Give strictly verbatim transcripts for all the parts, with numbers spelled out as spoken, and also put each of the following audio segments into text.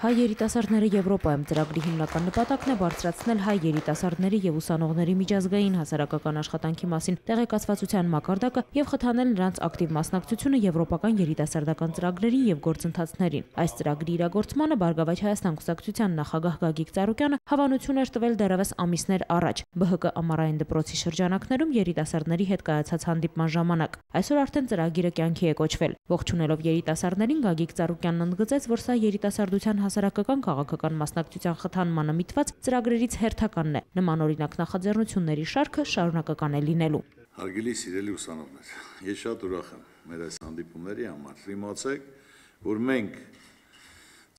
Հայ երիտասարդները Եվրոպայում ծրագրի հիմնական նպատակն է բարձրացնել հայ երիտասարդների եւ ուսանողների միջազգային հասարակական աշխատանքի մասին տեղեկացվածության մակարդակը եւ խթանել նրանց ակտիվ մասնակցությունը եվրոպական երիտասարդական ծրագրերին եւ գործընթացներին։ Այս ծրագրի իրագործմանը Բարգավաճ Հայաստան կուսակցության նախագահ Գագիկ Ծառուկյանը հավանություն էր տվել դեռևս ամիսներ առաջ Բ Հ Կ ամառային դպրոցի շրջանակներում երիտասարդների հետ կայացած հանդիպման ժամանակ։ Այսօր արդեն ծրագիրը կյանքի է կոչվել։ Ողջունելով երիտասարդներին Գագիկ Ծառուկյանն ընդգծեց, որ սա երիտասարդության հասարակական քաղաքական մասնակցության խթանմանը միտված ծրագրերից հերթականն է։ Նմանօրինակ նախաձեռնությունների շարքը շարունակական է լինելու։ Հարգելի սիրելի ուսանողներ, ես շատ ուրախ եմ մեր այս հանդիպումների համար։ Իմացեք, որ մենք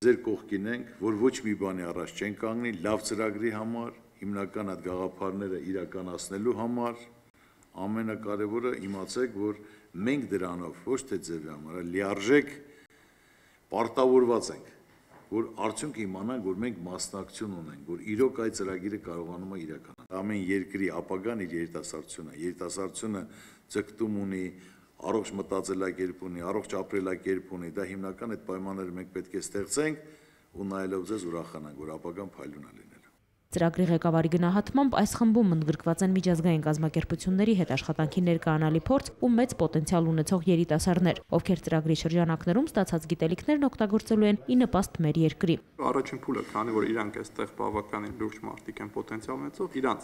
ձեր կողքին ենք, որ ոչ մի բանի առաջ չենք կանգնի, լավ ծրագրի համար, հիմնական այդ գաղափարները իրականացնելու համար, ամենակարևորը իմացեք, որ մենք դրանով ոչ թե ձևի համար, այլ լիարժեք պարտավորված ենք, որ արդյունք իմանանք, որ մենք մասնակցություն ունենք, որ իրոք այդ ծրագիրը կարողանում է իրականանալ։ Ամեն երկրի ապագան իր երիտասարդությունը, երիտասարդությունը ձգտում ունի, առողջ մտածելակերպ ունի, առողջ ապրելակերպ ունի, դա հիմնական այդ պայմանները մենք պետք է ստեղծենք ու նայելով ձեզ ուրախանանք, որ ապագան փայլուն է լինելու։ Ծրագրի ղեկավարի գնահատմամբ այս խմբում ընդգրկված են միջազգային կազմակերպությունների հետ աշխատանքի ներկայանալի փորձ ու մեծ պոտենցիալ ունեցող երիտասարդներ, ովքեր ծրագրի շրջանակներում ստացած գիտելիքներն օգտագործելու են ի նպաստ մեր երկրի։ Առաջին փուլը, քանի որ իրանք այստեղ բավականին լուրջ մարդիկ են պոտենցիալ ունեցող, իրանք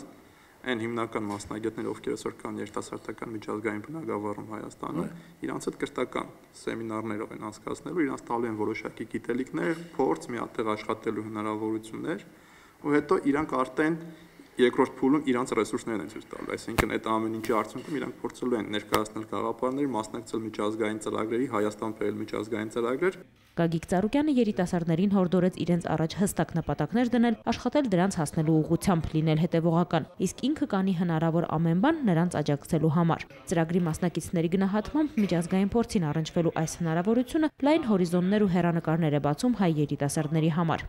այն հիմնական մասնագետները, ովքեր այսօր կան երիտասարդական միջազգային բնագավառում Հայաստանում, իրանց հետ կրթական սեմինարներով են անցկացնելու, իրանց տալու են որոշակի գիտելիքներ, փորձ, միատեղ աշխատելու հնարավորություններ, ու հետո իրանք արդեն երկրորդ փուլում իրանց ռեսուրսներն են ցույց տալու, այսինքն այդ ամեն ինչի արդյունքում իրանք փորձելու են ներկայացնել գաղափարներ, մասնակցել միջազգային ծրագրերի, Հայաստան բերել միջազգային ծրագրեր։ Գագիկ Ծառուկյանը երիտասարդներին հորդորեց իրենց առաջ հստակ նպատակներ դնել, աշխատել դրանց հասնելու ուղղությամբ, լինել հետևողական, իսկ ինքը կանի հնարավոր ամեն բան նրանց աջակցելու համար։ Ծրագրի մասնակիցների գնահատմամբ միջազգային փորձին առնչվելու այս հնարավորությունը լայն հորիզոններ ու հեռանկարներ է բացում հայ երիտասարդների համար։